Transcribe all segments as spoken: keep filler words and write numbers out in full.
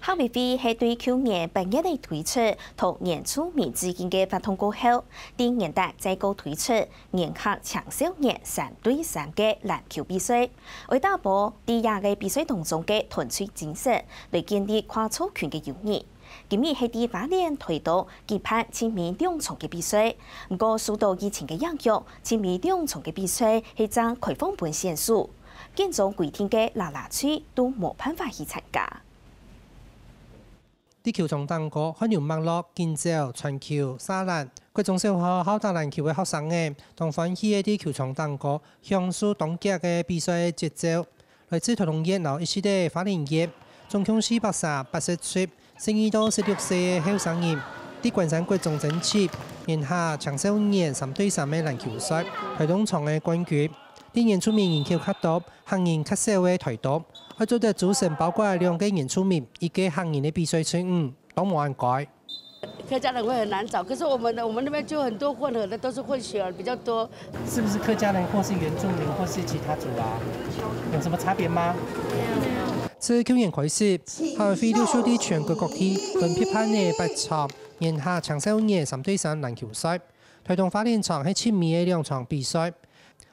客委會係對舊年八月个推出，同原住民致敬个活動過後，在元旦再過推出原客青少年三對三个籃球比賽，為打破在這个比賽當中个團隊精神，來建立跨族群个友誼。今日係在花蓮、台東舉辦親美兩場个比賽，毋過受到疫情个影響，親美兩場个比賽係正開放分選手，建中規定个啦啦隊都無辦法去參加。 在球場頂高，汗流脈落，緊走、傳球、射籃。國中小學好打籃球个學生仔，當歡喜个在球場頂高享受當遽个比賽節奏。來自台東縣摎一息个花蓮縣，總共四百三八十隊，十二到十六歲个後生人，在關山國中爭取年下青少年三對三个籃球賽，台東場个冠軍。 在原住民人口較多、客人較少个台東，愛做得組成包括兩个原住民、一个客人个比賽隊伍，當無恁該。客家人會很難找，可是我們的我們那邊就很多混合的，都是混血兒比較多。是不是客家人或是原住民或是其他族啊？有什么差别吗？自舊年開始，客委會陸續在全國各地分別辦理八場年下青少年三對三籃球賽。台東花蓮場係親美个兩場比賽，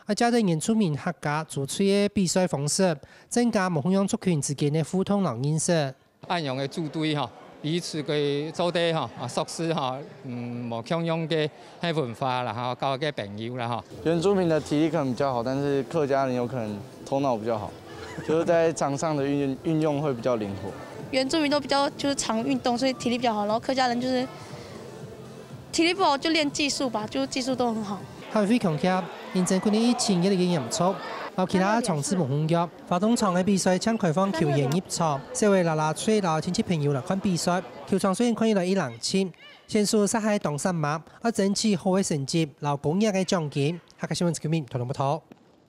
啊，借等原住民客家族群个比賽方式，增加無共樣族群之間个互動摎認識。恁樣个組隊吼，彼此个做得吼，啊，熟識吼，嗯，無共樣个文化啦吼，交个朋友啦吼。原住民的體力可能比較好，但是客家人有可能头脑比较好，就是在场上的运运用会比较灵活。原住民都比较就是常运动，所以体力比较好，然后客家人就是体力不好就练技术吧，就技术都很好。客委會強調，因應舊年疫情越來越嚴重，摎其他場次無共樣，花東場个比賽正開放球員入場，小个啦啦隊摎親戚朋友來看比賽。球場雖然看起來已冷清，選手實在當煞猛，愛爭取好个成績摎高額个獎金。客家新聞陳國民，台東報導。